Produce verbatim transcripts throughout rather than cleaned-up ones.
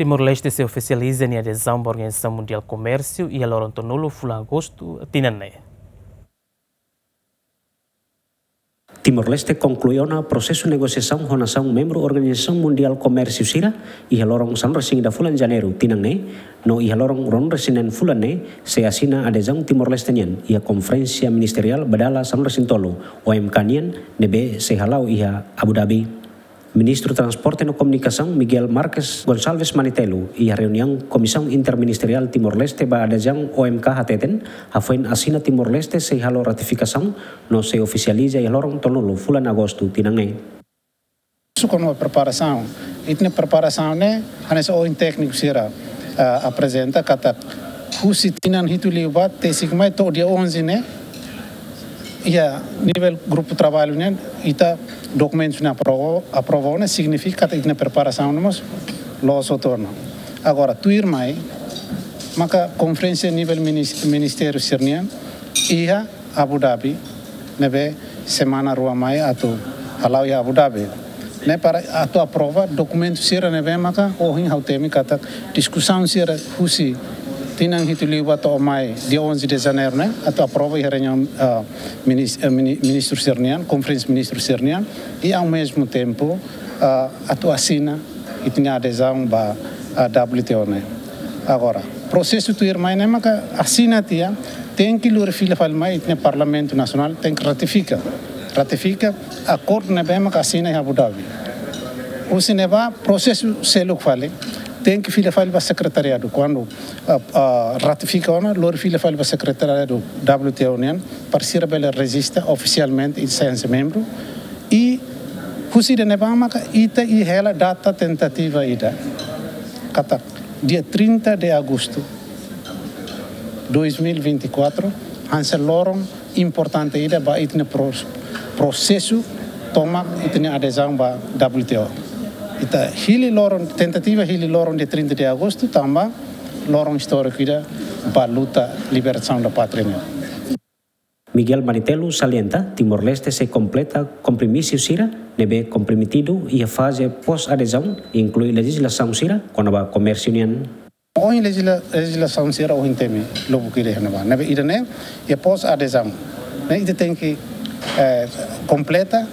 Timor-Leste sei ofisializa nia adezaun ba Organizasaun Mundiál Komérsiu iha loron tolunulu fulan Agostu tinan ne'e. Timor-Leste konklui ona prosesu negosiasaun ho nasaun membru Organizasaun Mundiál Komérsiu sira iha loron sanulu-resin-ida fulan Janeiru tinan ne'e, no iha loron ruanulu-resin-neen fulan ne'e sei asina adezaun Timor-Leste nian iha Konferénsia Ministeriál ba Dala sanulu-resin-tolu, O M K nian, ne'ebé sei hala'o iha Abu Dhabi. Ministru Transporte no Komunikasaun Miguel Marques Gonçalves Manitelu iha reuniaun Komisaun Interministeriál Timor-Leste ba Adezaun O M K hateten, hafoin asina Timor-Leste sei halo ratifikasaun no sei ofisializa iha loron tolunulu fulan Agostu tinan ne'e. Su kona preparasaun, ita-nia preparasaun ne'e hanesan ohin tékniku sira, ah, aprezenta katak husi tinan hitu liubá to'o dia onze ne'e, iha nivel grupu traballu nian, ita dokumentus ne'e aprova, aprova ona, signifika katak ita-nia preparasaun ne'e mós loos hotu ona. Agora, tuirmai, maka konferénsia nivel minis-, ministériu sira-nian iha Abu Dhabi, ne'ebé semana rua mai atu hala'o iha Abu Dhabi. Ne'e para atu aprova dokumentu sira ne'ebé maka ohin ha'u temi katak diskusaun sira husi tinan hitu liubá to'o mai dia onze de Janeiru ne'e atu aprova iha reuniaun, ah, minis-, eh, mini-, ministru sira-nian, konferénsia ministru sira-nian, i ao mesmo tempo, ah, atu asina ita-nia adezaun ba, ah, W T O ne'e. Agora, prosesu tuirmai ne'e maka asina tiha, tenke lori fila fali mai ita-nia Parlamentu Nasionál tenke ratifika. Ratifika akordu ne'ebé maka asina iha Abu Dhabi. Husi ne'ebá prosesu seluk fali, tenke fila fali ba sekretariadu. Kuandu, ah, ah, ratifika ona, lori fila fali ba sekretariadu W T O nian, para sira bele rejista ofisialmente ita sai hanesan membru. I husi ida-ne'ebá maka ita iha hela data tentativa ida. Katak dia trinta de agosto dois mil e vinte e quatro, hanesan loron importante ida ba ita-nia pros-, prosesu tomak ita-nia adezaun ba W T O. Ita hili loron, tentativa hili loron dia trinta de agosto, tanba loron istóriku ida ba luta libertasaun da pátria nian. Miguel Manitelu salienta, Timor-Leste sei kompleta kompromisu sira ne'ebé komprometidu iha faze pós-adezaun, inklui lejizlasaun sira kona-ba komérsiu nian. Ohin lejizla-, lejizlasaun sira ohin temi lubuk ida iha ne'ebá. Ne'ebé ida-ne'e iha pós-adezaun. Ne'e ita tenke, eh, kompleta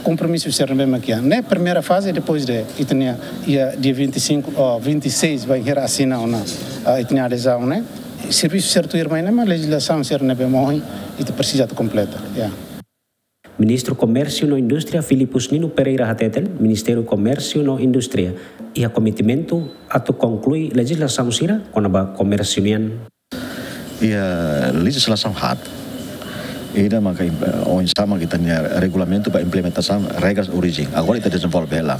kompromisu sira ne'ebé mak iha. Ne'e primeira faze, depois de ita-nia iha dia vinte e cinco, oh, vinte e seis bainhira asina ona, ah, ita-nia adezaun ne'e. Servisu sira tuirmai ne'e mak lejizlasaun sira ne'ebé mak ohin ita presiza atu kompleta. Ya. Ministru Komérsiu no Indústria Filipus Nino Pereira hateten, Ministériu Komérsiu no Indústria iha kometimentu atu konklui lejizlasaun sira kona-ba komérsiu nian. Iha lejizlasaun haat. Ida maka im-, oinsá maka ita-nia regulamentu ba implementasaun regras orijen. Agora ita dezenvolve hela.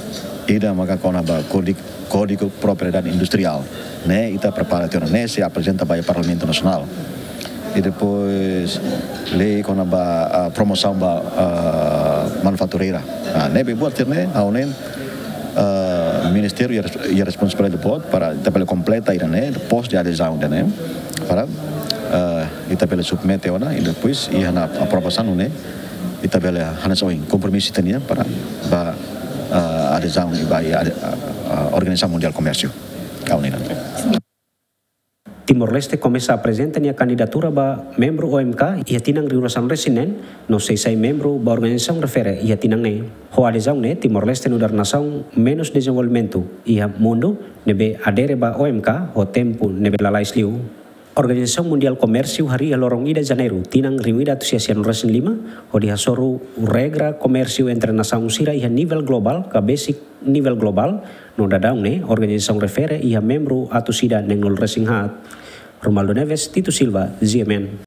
Ida maka kona-ba kódigu, Kódigu Propriedade Industriál. Ne'e ita prepara tiha ona, ne'e sei aprezenta ba Parlamentu Nasionál. I depois lei kona-ba, ah, promosaun ba, ah, manufatureira. Ah, ne'ebé buat sira-ne'e, ha'u hanoin, ah, ministériu iha res-, iha responsabilidade boot para ita bele kompleta ida-ne'e, pós de adezaun ida-ne'e, para, ah, ita bele submete ona, i depois iha ona aprovasaun ne'e, ita bele hanesan ohin kompromisu ita-nian para ba, ah, adezaun i ba, ah, ah, Organizasaun Mundiál Komérsiu. Ha'u hanoin. Timor-Leste komesa aprezenta nia kandidatura ba membru O M K iha tinan rihun ruasaan-resin-neen, no sei sai membru ba organizasaun refere iha tinan ne'e. Ho adezaun ne'e, Timor-Leste nu'udar nasaun menus dezenvolvimentu iha mundu, ne'ebé adere ba O M K ho tempu ne'ebé lalais liu. Organizasaun Mundiál Komérsiu harii iha loron ida Janeiru, tinan rihun ida atus sia sianulu-resin-lima, hodi hasoru regra komérsiu entre nasaun sira iha nivel globál, ka besik nivel globál, no daudaun ne'e organizasaun refere iha membru atus ida neenulu-resin-haat. Romualdo Neves, Tito Silva, G M N.